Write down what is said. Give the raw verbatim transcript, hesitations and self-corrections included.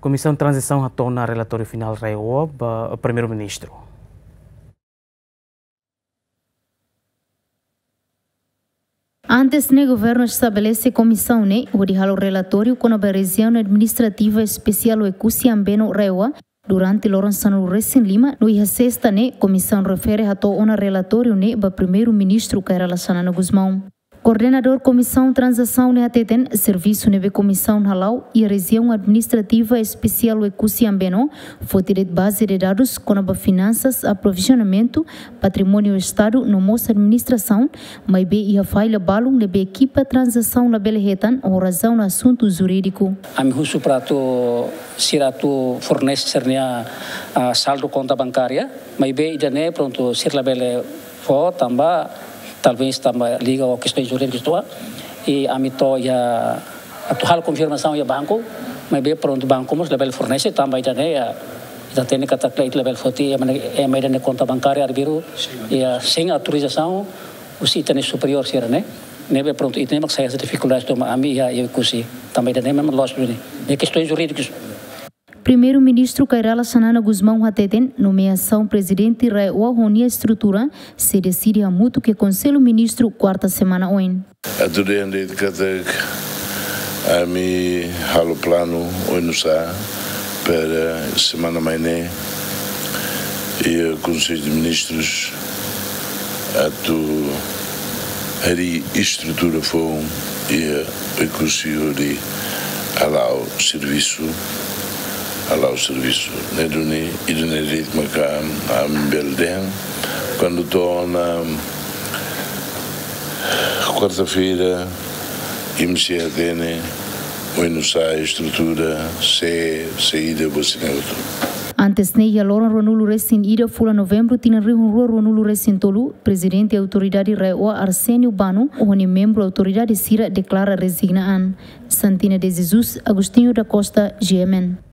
Komisaun Tranzisaun hato'o ona relatóriu finál RAEOA ba Primeiru-Ministru. Antes ne'e, governu estabelese komisaun ne'e hodi halo relatóriu kona-ba Rejiaun Administrativa Espesiál Oekusi Ambeno, RAEOA, durante loron sanulu-resin-lima, no iha sesta ne'e komisaun refere hato'o ona relatóriu ne'e ba Primeiru-Ministru Kay Rala Xanana Gusmão. Koordenadór Komisaun Tranzisaun ne'e hateten, servisu ne'ebé komisaun hala'o iha Rejiaun Administrativa Espesiál Oekusi Ambeno foti de'it baze de dadus kona-ba finansas, aprovizionamentu, patrimóniu Estadu no mós administrasaun, maibé iha falla balun ne'ebé ekipa tranzisaun labele hetan ho razaun asuntu jurídiku. Ami husu para atu sira atu fornese sira-nia, ah, saldu konta bankária, maibé ida-ne'e prontu sira labele fó tanba, talvés tanba liga ho kestaun jurídika sira. I ami to'o iha atu halo konfirmasaun iha banku, maibé prontu banku mós labele fornese tanba ida-ne'e, ah, ita hatene katak ita labele foti ema ne'e, ema ida-ne'e konta bankária arbiru, ah, sein autorizasaun husi ita-nia superiór sira-ne'e. Ne'ebé prontu ita-nia mak sai hanesan difikuldade tomak ami iha, iha Oekusi. Tanba ida-ne'e memang loos duni. Ne'e kestaun jurídiku. Primeiru-Ministru Kay Rala Xanana Gusmão hateten, nomeasaun Prezidente RAEOA ho nia estrutura sei deside hamutuk iha Konsellu Ministru kuarta semana oin. Atu dehan de'it katak ami halo planu oinusá para semana mai ne'e iha Konsellu de Ministrus atu harii estrutura foun iha Oekusi hodi hala'o servisu, hala'o servisu. Ne'e duni, ida-ne'e de'it maka ami bele dehan. Kuandu to'o ona kuarta-feira, imi sei hatene oinusá estrutura, sé, saida, buat sira-ne'e hotu. Antes ne'e, iha loron ruanulu-resin-ida fulan Novembru tinan rihun rua ruanulu-resin-tolu, Prezidente Autoridade RAEOA Arsénio Bano ho nia membru autoridade sira deklara rezigna an. Santina de Jesus, Agostinho da Costa, G M N.